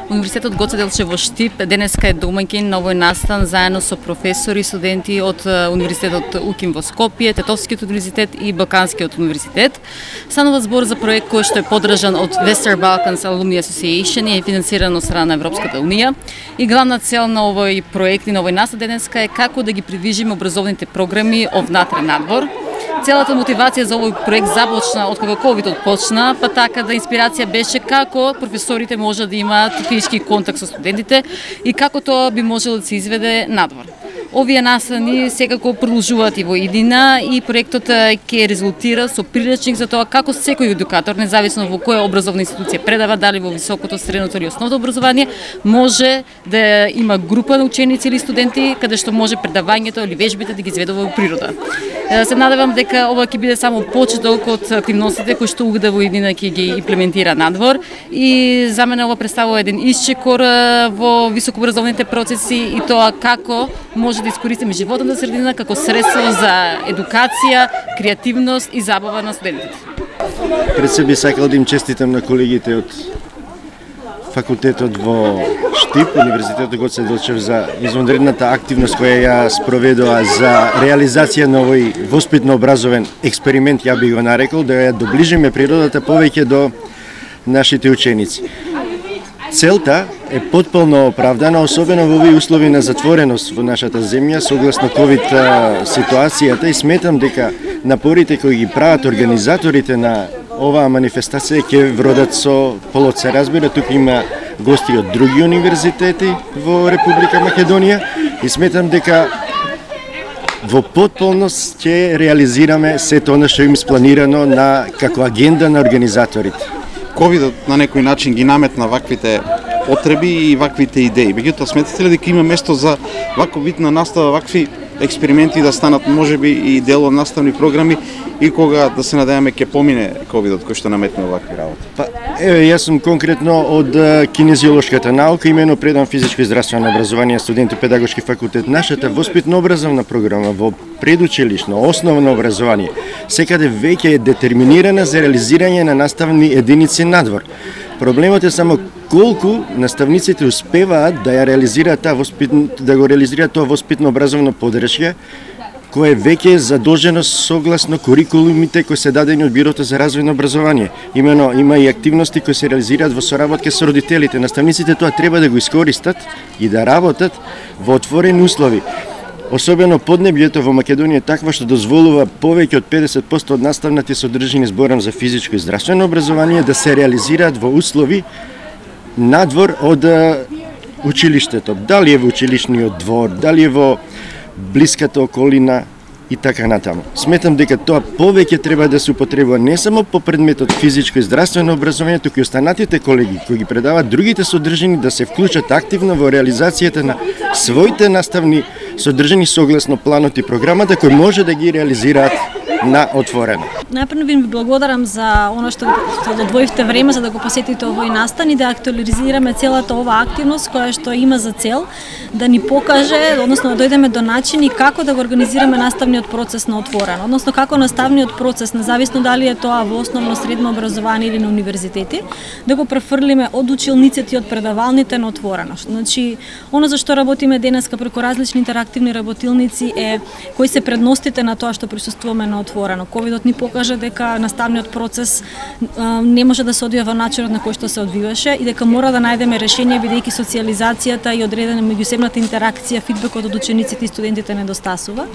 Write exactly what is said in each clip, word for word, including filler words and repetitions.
Универзитетот Гоце Делчев во Штип денеска е домаќин на овој настан заедно со професори и студенти од Универзитетот УКИМ во Скопје, Тетовскиот универзитет и Балканскиот универзитет. Станува збор за проект кој што е поддржан од Western Balkans Alumni Association и е финансиран од страна на Европската унија. И главна цел на овој проект и на овој настан денеска е како да ги придвижиме образовните програми овнатре надвор. Целата мотивација за овој проект започна од кога ковидот почна, па така да инспирација беше како професорите може да имаат физички контакт со студентите и како тоа би можело да се изведе надвор. Овие настани секако продолжуваат и во иднина и проектот ќе резултира со приречник за тоа како секој едукатор, независно во која образовна институција предава, дали во високото, средното или основно образование, може да има група на ученици или студенти каде што може предавањето или вежбите да ги изведува во природа. Се надевам дека ова ќе биде само почеток од активностите кои што УГД во иднина ќе ги имплементира надвор и за мене ова представува еден исчекор во високообразовните процеси и тоа како може да искористиме животната средина како средство за едукација, креативност и забава на студентите. Пред се би сакал да им честитам на колегите од факултетот во Штип, Универзитетот Гоце Делчев за извонредната активност која ја спроведува за реализација на овој воспитно-образовен експеримент, ја би го нарекол, да ја доближиме природата повеќе до нашите ученици. Целта е потполно оправдана, особено во овие услови на затвореност во нашата земја, согласно ковид ситуацијата, и сметам дека напорите кои ги прават организаторите на оваа манифестација ќе вродат со плод. Се разбира, тука има гости од други универзитети во Република Македонија и сметам дека во потполност ќе реализираме сето она што им спланирано на како агенда на организаторите. Ковидот на некој начин ги наметна ваквите потреби и ваквите идеи. Меѓутоа, сметате ли дека има место за ваков вид на настава, вакви експерименти да станат можеби и дел од наставни програми и кога да се надеваме ќе помине ковидот кој што наметна вакви работи? Па, еве, јас сум конкретно од кинезиолошката наука, имено предам физичко и здравствено образование, студент и педагошки факултет. Нашата воспитно-образовна програма во предучилишно, основно образование, секаде веќе е детерминирана за реализирање на наставни единици надвор. Проблемот е само колку наставниците успеваат да ја реализираат таа воспитно, да го реализираат тоа воспитно-образовно поддршка, кој е веќе задолжено согласно курикулумите кои се дадени од Бирото за развојно образование. Имено има и активности кои се реализираат во соработка со родителите. Наставниците тоа треба да го искористат и да работат во отворени услови. Особено поднебјето во Македонија е таква што дозволува повеќе од педесет проценти од наставните содржини, зборам за физичко и здравствено образование, да се реализираат во услови надвор од училиштето. Дали е во училишниот двор, дали е во блиската околина и така натаму. Сметам дека тоа повеќе треба да се употребува не само по предметот физичко и здравствено образование, туку и останатите колеги кои ги предаваат другите содржини да се вклучат активно во реализацијата на своите наставни содржини согласно планот и програмата кои може да ги реализираат на отворено. Најпрво ви благодарам за она што одвоивте време за да го посетите овој настан и да актуализираме целата оваа активност која што има за цел да ни покаже, односно да дојдеме до начини како да го организираме наставниот процес на отворено, односно како наставниот процес, независно дали е тоа во основно средно образование или на универзитети, да го префрлиме од училниците и од предавалните на отворено. Значи, оно за што работиме денеска преку различни интерактивни работилници е кои се предностите на тоа што присуствуваме на отворено. Ковидот ни покажа дека наставниот процес а, не може да се одвива во начинот на кој што се одвиваше и дека мора да најдеме решение бидејќи социјализацијата и одредена меѓусебната интеракција, фидбекот од учениците и студентите недостасува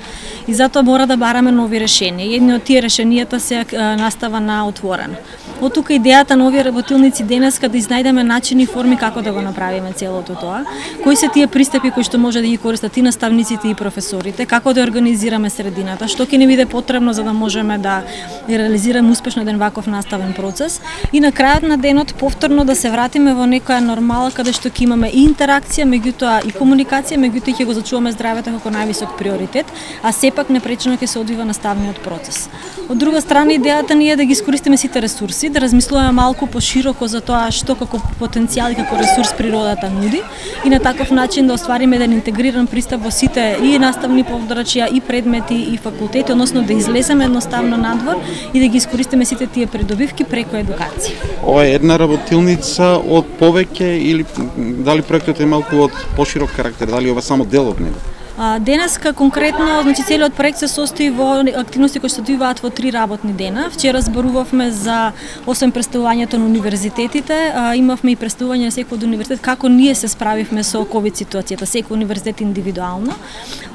и затоа мора да бараме нови решенија. Едни од тие решенијата се а, настава на отворено. Од тука идејата на овие работилници денеска да изнајдеме начини и форми како да го направиме целото тоа. Кои се тие пристапи кои што може да ги користат и наставниците и професорите, како да организираме средината, што ќе ни биде потребно за да можеме да реализираме успешно еден ваков наставен процес и на крајот на денот повторно да се вратиме во некоја нормала каде што ќе имаме и интеракција, меѓутоа и комуникација, меѓутоа ќе го зачуваме здравето како највисок приоритет, а сепак непречено ќе се одвива наставниот процес. Од друга страна идејата ни е да ги искористиме сите ресурси, да размислуваме малку пошироко за тоа што како потенцијал и како ресурс природата нуди и на таков начин да оствариме еден интегриран пристап во сите и наставни поддрачја и предмети и факултети, односно да излеземе излеземе едноставно надвор и да ги искористиме сите тие придобивки преку едукација. Ова е една работилница од повеќе или дали проектот е малку од поширок карактер, дали ова само дел од него? Денеска конкретно, значи целиот проект се состои во активности кои се одвиваат во три работни дена. Вчера зборувавме за освен представувањето на универзитетите, имавме и представување на секој од универзитет како ние се справивме со ковид ситуацијата, секој универзитет индивидуално.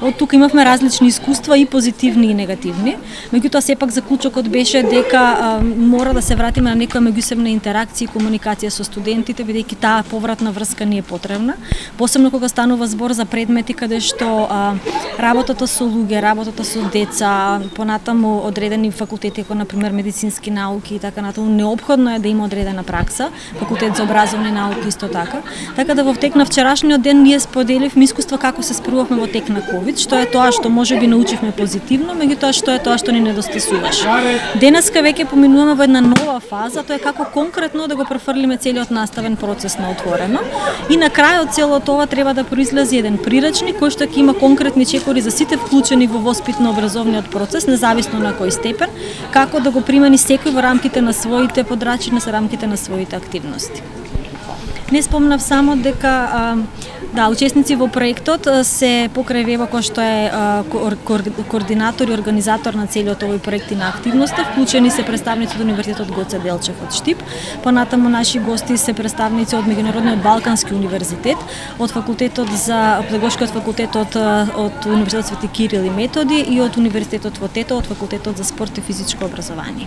Од тука имавме различни искуства и позитивни и негативни. Меѓутоа сепак заклучокот беше дека а, мора да се вратиме на некоја меѓусебна интеракција и комуникација со студентите, бидејќи таа повратна врска ни е потребна, посебно кога станува збор за предмети каде што а, работата со луѓе, работата со деца, понатаму одредени факултети како например медицински науки и така натаму, неопходно е да има одредена пракса, факултет за образовни науки исто така. Така да во тек на вчерашниот ден ние споделивме искуства како се справувавме во тек на ковид, што е тоа што можеби научивме позитивно, меѓутоа што е тоа што ни недостасуваше. Денеска веќе поминуваме во една нова фаза, тоа е како конкретно да го префрлиме целиот наставен процес на отворено. И на крајот целото тоа треба да произлезе еден прирачник кој што ќе има конкретни чекори за сите вклучени во воспитно-образовниот процес, независно на кој степен, како да го примени секој во рамките на своите подрачи, на рамките на своите активности. Не спомнав само дека а, да, учесници во проектот се покрај Вево кој што е а, координатор и организатор на целиот овој проект и на активноста, вклучени се представници од Универзитетот Гоце Делчев од Штип, понатаму наши гости се представници од Меѓународниот Балкански универзитет, од факултетот за педагошкиот факултет од, од Универзитетот Свети Кирил и Методи и од Универзитетот во Тето, од факултетот за спорт и физичко образование.